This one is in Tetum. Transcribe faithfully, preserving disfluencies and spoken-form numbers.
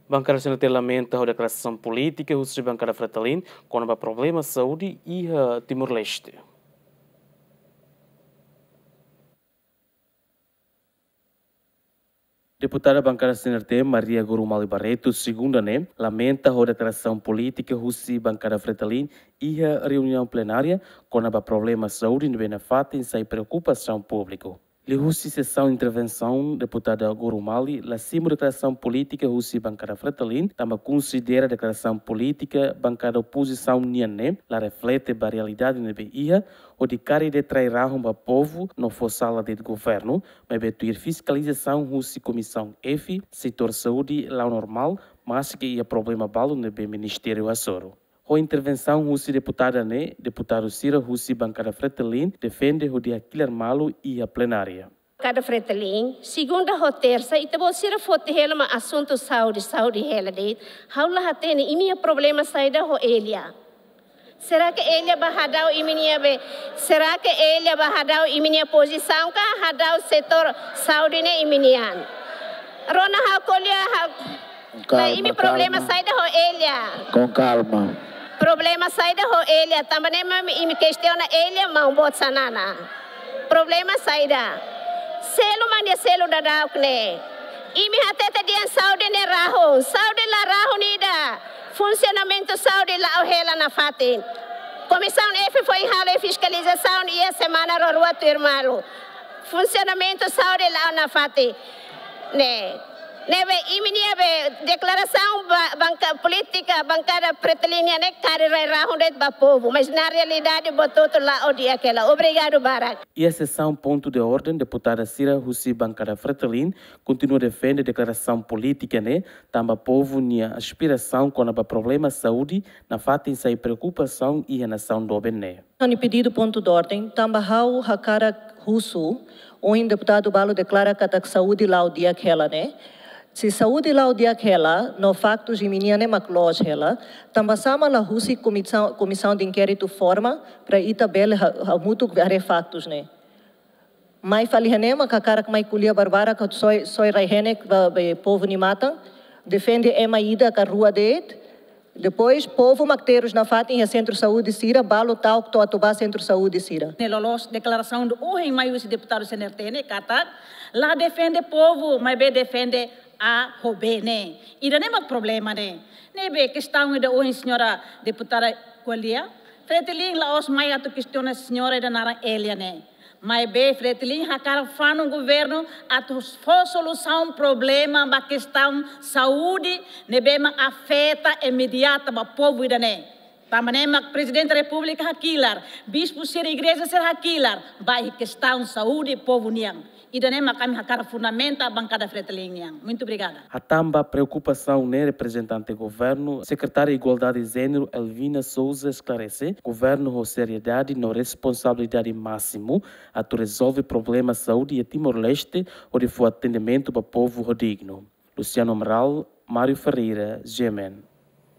Bankada C N R T lamenta ho deklarasaun polítika husi bankada Fretilin kona-ba problema saúde iha Timor-Leste. Deputada bankada C N R T, Maria Gorumali Barreto, segunda ne'e, lamenta ho deklarasaun polítika husi bankada Fretilin iha reuniaun plenária kona-ba problema saúde ne'ebé nafatin sai preokupasaun públiku. Liuhusi sesaun intervensaun, deputada Gorumali la simu deklarasaun polítika husi bankada Fretilin, tanba konsidera deklarasaun polítika bankada opozisaun nian ne'e la reflete ba realidade ne'ebé iha, hodi karik detrai rahun ba povu no fó sala de'it governu, maibé tuir fiskalizasaun husi Komisaun F, setór saúde la'o normál, maske iha problema balu ne'ebé ministériu hasoru. Ho intervensaun husi deputada ne'e, deputadu sira husi bankada Fretilin defende hodi hakilar malu iha plenária. Bankada Fretilin, segunda ho tersa, ita-boot sira foti hela mak asuntu saúde, saúde hela de'it. Ha'u la hatene, imi-nia problema saida ho Elia? Será que Elia bá hadau imi-nia be? Será que Elia bá hadau imi-nia pozisaun ka hadau setór saúde ne'e imi-nian? Rona ha'u ko'alia ha'u. Calma, la, imi problema calma. Saida ho Elia? Com calma. Problema saida ho Elia? Tanba ne'e mak imi kestiona Elia maun boot Xanana. Problema saida? Selu mak nia selu daudauk ne'e. Imi hatete dehan saúde ne'e rahun. Saúde la rahun ida. Funsionamentu saúde la'o hela nafatin. Komisaun F foin halo fiskalizasaun iha semana rua-rua tuirmai. Funsionamentu saúde la'o nafatin. Ne'e. Ne'ebé imi-nia be deklarasaun ba-, banka-, polítika bankada Fretilin nian ne'e karik rai rahun de'it ba povu, mas na realidade buat hotu la'o di'ak hela. Obrigadu barak. Iha sesaun pontu de orden, deputada sira husi bankada Fretilin kontinua defende deklarasaun polítika ne'e, tanba povu nia aspirasaun kona-ba problema saúde nafatin sai preokupasaun iha nasaun doben ne'e. Ha'u-nia pedidu pontu de orden, tanba ha'u hakarak husu, ohin deputadu balu deklara katak saúde la'o di'ak hela ne'e. Se saúde la'o di'ak hela, no faktus imi-nian ne'e mak loos hela, tanba sá mak la husi komisaun, komisaun de inkéritu forma, para ita bele ha-, hamutuk haree faktus ne'e. Mai fali iha ne'e mak hakarak mai ko'alia barbarak, soe, soe rai-henek ba, ba povu nia matan, defende ema ida ka rua de'it, depois povu mak terus nafatin iha sentru saúde sira, balu ta'uk to'o atu bá sentru saúde sira. Ne'e loloos deklarasaun ohin mai husi deputadu C N R T ne'e katak la defende povu, maibé defende A ho B ne'e. Ida-ne'e mak problema ne'e. Ne'ebé kestaun ida ohin señora deputada ko'alia, Fretilin la'ós mai atu kestiona señora ida naran Elia ne'e. Maibé Fretilin hakarak fanun governu atu fó solusaun problema ba kestaun saúde ne'ebé mak afeta imediata ba povu ida-ne'e. Tanba ne'e mak Prezidente Repúblika hakilar, bispu sira, igreja sira hakilar, ba iha kestaun saúde povu nian. Ida-ne'e mak ami hakarak fundamenta bankada Fretilin nian. Muito obrigada. Hatán ba preokupasaun ne'e reprezentante governu, Sekretária Igualdade Jéneru Elvina Sousa esklarese, governu ho seriedade no responsabilidade másimu atu rezolve problema saúde iha Timor-Leste, hodi fó atendimentu ba povu ho dignu. Luciano Amaral, Mário Ferreira, G M N.